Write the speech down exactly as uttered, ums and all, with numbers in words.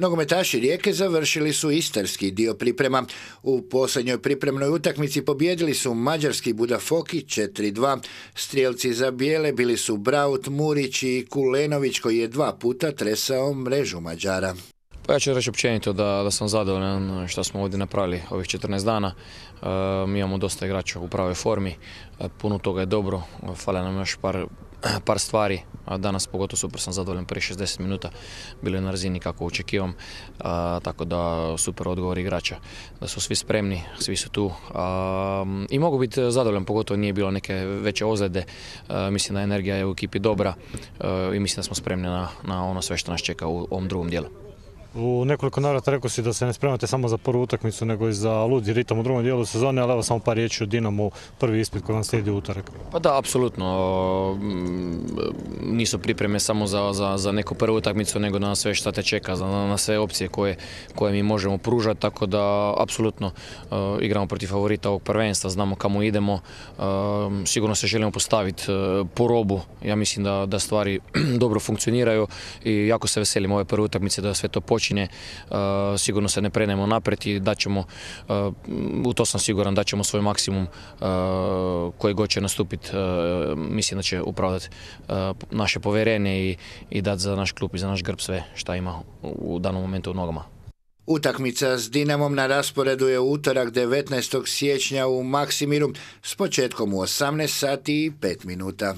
Nogometaši Rijeke završili su istarski dio priprema. U posljednjoj pripremnoj utakmici pobijedili su mađarski Budafoki četiri dva. Strijelci za bijele bili su Braut, Murić i Kulenović koji je dva puta tresao mrežu Mađara. Pa ja ću reći općenito da, da sam zadovoljan što smo ovdje napravili ovih četrnaest dana. E, mi imamo dosta igrača u pravoj formi, e, puno toga je dobro, fale nam još par, par stvari, a danas pogotovo super sam zadovoljan, prvih šezdeset minuta bilo je na razini kako očekivam, a, tako da super odgovor igrača, da su svi spremni, svi su tu a, i mogu biti zadovoljan, pogotovo nije bilo neke veće ozljede, a, mislim da energija je u ekipi dobra a, i mislim da smo spremni na, na ono sve što nas čeka u ovom drugom dijelu. U nekoliko navrata rekao si da se ne spremate samo za prvu utakmicu, nego i za ludi ritam u drugom dijelu sezone, ali evo samo par riječi o Dinamu, prvi ispit koji vam slijedi u utorak. Pa da, apsolutno. Nisu pripreme samo za, za, za neku prvu utakmicu, nego na sve što te čeka, na, na sve opcije koje, koje mi možemo pružati, tako da apsolutno uh, igramo protiv favorita ovog prvenstva, znamo kamo idemo, uh, sigurno se želimo postaviti uh, po robu, ja mislim da, da stvari dobro funkcioniraju i jako se veselim ove prve utakmice da sve to počne. Počinje, uh, sigurno se ne prenemo naprijed i daćemo, uh, u to sam siguran, daćemo svoj maksimum uh, koji god će nastupiti, uh, mislim da će upravljati uh, naše povjerenje i, i dati za naš klub i za naš grb sve što ima u danom momentu u nogama. Utakmica s Dinamom na rasporedu je utorak devetnaestog siječnja u Maksimiru s početkom u osamnaest sati i pet minuta.